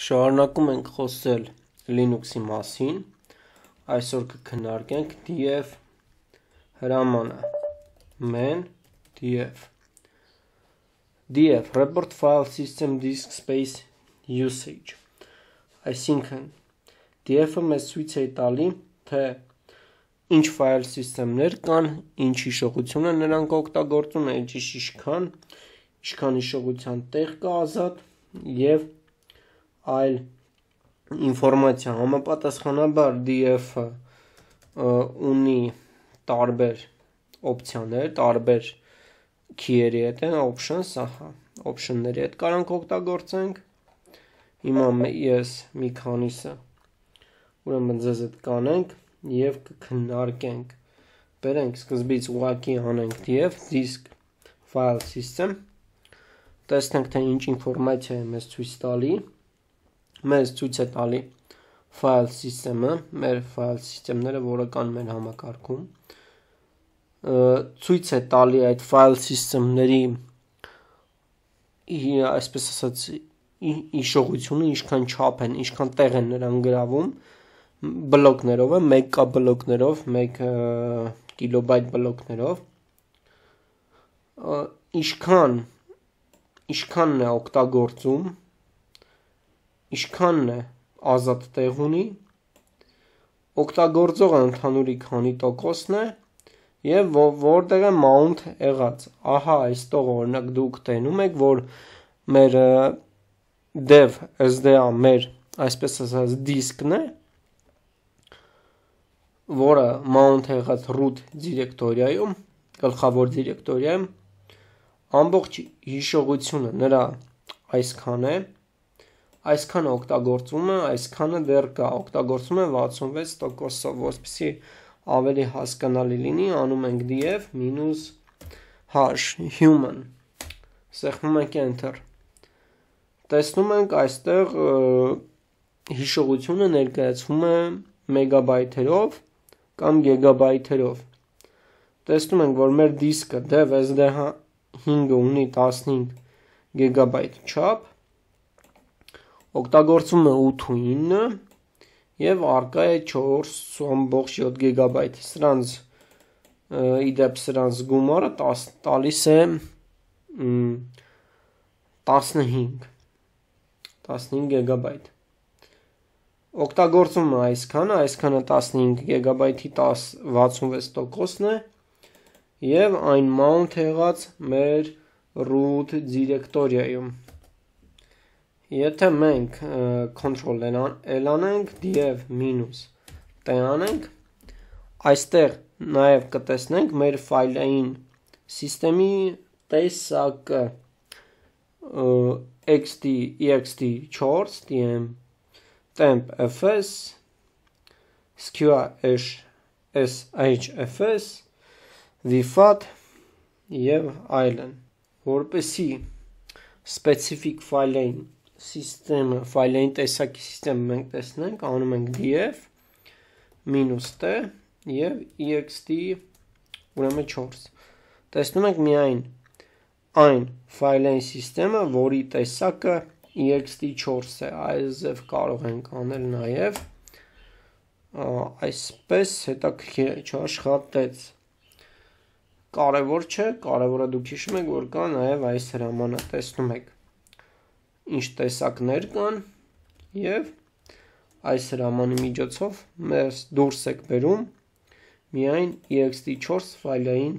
Շարունակում ենք խոսել Linux-ի մասին, այսօր կքննարկենք df հրամանը, man df report file system disk space usage, այսինքն df-ը մեզ ցույց է տալի, թե ինչ file system-ներ կան, ինչ հիշողություն է նրանք օգտագործում, ինչքան հիշողության տեղ կա ազատ և այլ ինֆորմացիա։ Համապատասխանաբար df-ը ունի տարբեր օպցիաներ, տարբեր key-երի հետ են, option-ների հետ կարանք օգտագործենք։ Հիմա ես մի քանիսը ուրեմն ձեզ հետ կանենք և կքննարկենք։ Բերենք սկզբից ուղղակի անենք df disk file system, տեսնենք թե ինչ ինֆորմացիա է մեզ ցույց տալի։ Մեզ ցույց է տալի file system-ը, մեր file system-ները, որը կան մեր համակարգում, ցույց է տալի այդ file system-ների այսպես ասած հիշողությունը, ինչքան չափ են, ինչքան տեղ են նրանք գրավում, բլոկներով է, 1K բլոկներով, 1 կիլոբայթ բլոկներով, ինչքանն է օգտագործում, ինչքանն է ազատ տեղ ունի, օգտագործողը ընդհանուրի քանի տոկոսն է և որտեղ է mount եղած։ Ահա այստեղ օրինակ դուք տենում եք, որ մեր dev SDA մեր այսպես ասած դիսկն է, որը mount եղած root դիրեկտորիայում, գլխավոր դիրեկտորիայում, ամբողջ հիշողությունը նրա այսքան է, այսքանը օգտագործում է, այսքանը դեռ կա, օգտագործում է 66%-ով, որպեսզի ավելի հասկանալի լինի, անում ենք df -h human, սեղմում ենք enter, տեսնում ենք այստեղ հիշողությունը ներկայացվում է մեգաբայթերով կամ գիգաբայթերով, տեսնում ենք, որ մեր դիսկը dev SDA5-ը ունի 15 գիգաբայթ չափ, օգտագործում է 8 ու 9 և առկա է 4.7 գիգաբայթ, իդեպ սրանց գումարը տալիս է 15 գիգաբայթ, օգտագործում է այսքանը 15 գիգաբայթի 66%-ն է և այն mount եղած մեր root դիրեկտորիայում։ Եթե մենք control L անենք, df -t անենք, այստեղ նաև կտեսնենք մեր ֆայլային սիստեմի տեսակը ext4, temp fs, sqr/shfs, vfat և այլն, որպեսզի specific ֆայլային սիստեմը, ֆայլային տեսակի սիստեմը մենք տեսնենք, անում ենք df -t և ext ուրեմն 4, տեսնում ենք միայն այն ֆայլային սիստեմը, որի տեսակը ext4 է, այսպես կարող ենք անել նաև, այսպես հետաքրքիր է, չաշխատեց, կարևոր չէ, կարևորը դուք հիշում եք, որ կա նաև այս հրամանը, տեսնում եք ինչ տեսակներ կան և այս հրամանի միջոցով մեզ դուրս եք բերում միայն ext4 ֆայլային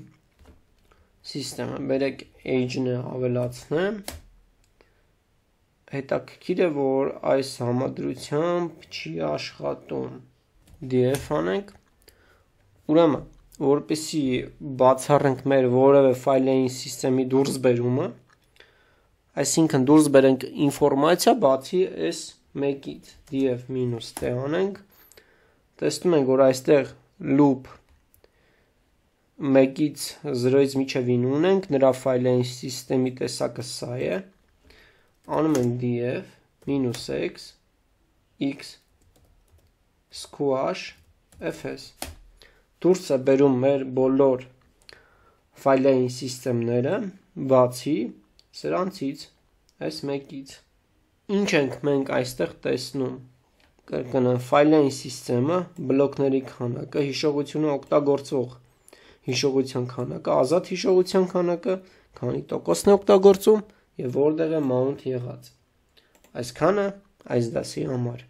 սիստեմը, բերեք age-ը ավելացնեմ, հետաքրքիր է, որ այս համադրությամբ չի աշխատում, df անենք, ուրեմն, որպեսզի բացառենք մեր որևէ ֆայլային սիստեմի դուրս բերումը, այսինքն դուրս բերենք ինֆորմացիա բացի այս մեկից, df -t անենք, տեսնում ենք, որ այստեղ loop 1-ից 0-ից մինչև 9 ունենք, նրա ֆայլային սիստեմի տեսակը սա է, անում ենք df -x squash fs, դուրս է բերում մեր բոլոր ֆայլային սիստեմները, բացի սրանցից, այս մեկից, Ինչ ենք մենք այստեղ տեսնում։ Կրկնեմ, ֆայլային սիստեմը, բլոկների քանակը, հիշողությունը օգտագործվող հիշողության քանակը, ազատ հիշողության քանակը, քանի տոկոսն է օգտագործում եւ որտեղ է mount եղած։ Այսքանը այս դասի համար։